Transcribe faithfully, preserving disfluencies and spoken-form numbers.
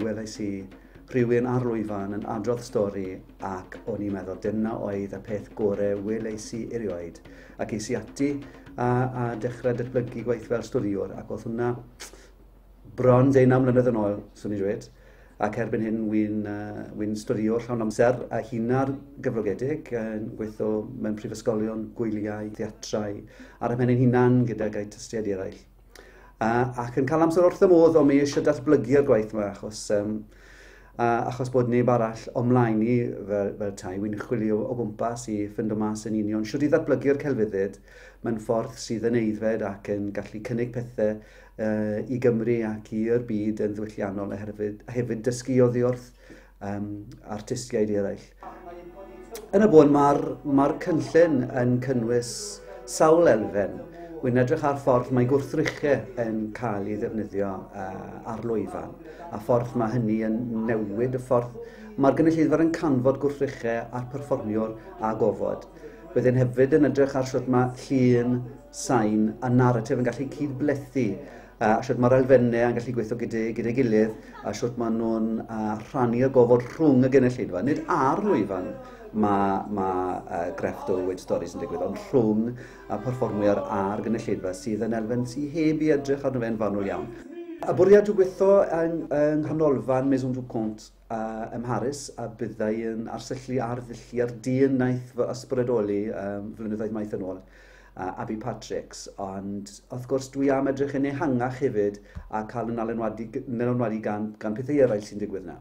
welais i rhywun ar lwyfan yn adrodd stori, ac o'n i'n meddwl dyna oedd y peth gorau welais i erioed. Ac es i ati a, a dechrau datblygu gwaith fel storiwr, ac oedd hwnna bron deunaw mlynedd yn ôl, swn i'n dweud. Ac erbyn hyn, wy'n uh, wy storiwr llawn amser a hunan gyflogedig, yn gweithio mewn prifysgolion, gwyliau, theatrau, ar y pen ein hunan gydag artistiaid eraill. Uh, ac yn cael amser wrth y modd, ond mi eisiau datblygu'r gwaith yma, achos, um, uh, achos bod neb arall o mlaen i fel, fel tai, wy'n chwilio o gwmpas i ffindo mas yn union shwt i ddatblygu'r celfyddyd mewn ffordd sydd yn aeddfed ac yn gallu cynnig pethau uh, i Gymru ac i'r byd yn ddiwylliannol a hefyd, a hefyd dysgu oddi wrth um, artistiaid eraill. Yn y bôn, mae'r ma cynllun yn cynnwys sawl elfen. Wy'n edrych ar ffordd mae gwrthrychau yn cael ei ddefnyddio uh, ar lwyfan, a ffordd mae hynny yn newid y ffordd mae'r gynulleidfa yn canfod gwrthrychau a'r perfformiwr a gofod. Byddwn hefyd yn edrych ar sut mae llun, sain a naratif yn gallu cydblethu, a sut mae'r elfennau yn gallu gweithio gyda'i gyda gilydd, a sut maen nhw'n uh, rhannu'r gofod rhwng y gynulleidfa. Nid ar lwyfan mae ma, uh, grefft o weud storis yn digwydd, ond rhwng y perfformwyr a'r gynulleidfa sydd yn elfen sydd heb i edrych arno fe'n fanwl iawn. Y bwriad yw gweithio yng, yng nghanolfan Maison du Conte uh, ym Mharis, a byddai yn arsyllu ar ddulliau'r dyn wnaeth fy ysbrydoli um, flynyddoedd maith yn ôl, uh, Abby Patricks, ond wrth gwrs dwi am edrych yn ehangach hefyd a cael yn alenwadu, alenwadu gan, gan pethau eraill sy'n digwydd yna.